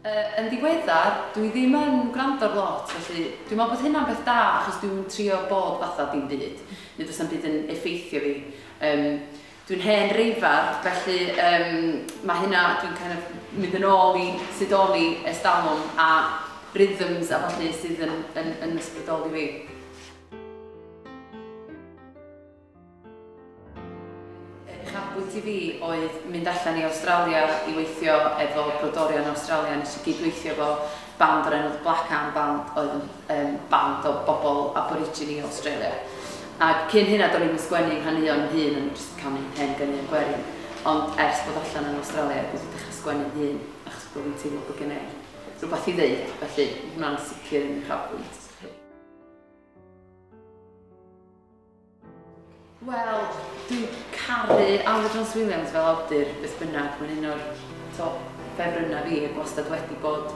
Yn ddiweddar, dwi ddim yn gwrando ar lot, felly dwi'n meddwl bod hynna'n beth da, achos dwi'n trio bod fatha dim byd, neu does na'm byd yn effeithio fi. Dwi'n hen reifar, felly mae hynna, dwi'n kind of mynd yn ôl i sut o'n i ers talwm a rhythms a falle sydd yn ysbrydoli fi. Uchafbwynt i fi oedd mynd allan i Awstralia i weithio efo brodorion Awstralia. Nes i gydweithio efo band o'r enw The Black Arm Band, oedd yn band o bobl Aborigine i Australia. Ac cyn hynna, do'n i'm yn sgwennu nghaneuon yn hun, o'n i jyst yn canu hen ganeuon gwerin. Ond ers bod allan yn Australia, dwi wedi dechrau sgwennu'n hun, achos bod fi'n teimlo bod gen i rhywbeth i ddeud, felly hwnna'n sicr yn uchafbwynt. Wel, dwi'n caru Aled Jones Williams fel awdur, beth bynnag, mae'n un o'r top ffefrynnau fi, ac wastad wedi bod.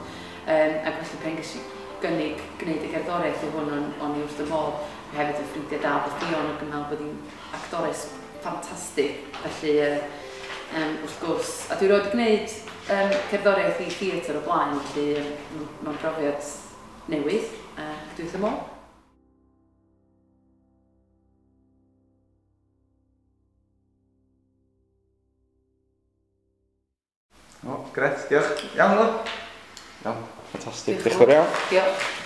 Ac felly pan ges i gynnig gwneud y gerddoriaeth i hwn, o'n i wrth y modd. Dwi hefyd yn ffrindiau da efo Ffion ac yn meddwl bod hi'n actores ffantastig, felly wrth gwrs. A dwi erioed wedi gwneud cerddoriaeth i theatr o blaen, felly mae'n brofiad newydd, ac dwi wrth y modd. O, gret, diolch. Iawn, Lo? Iawn, ffantastig. Diolch yn fawr iawn. Diolch.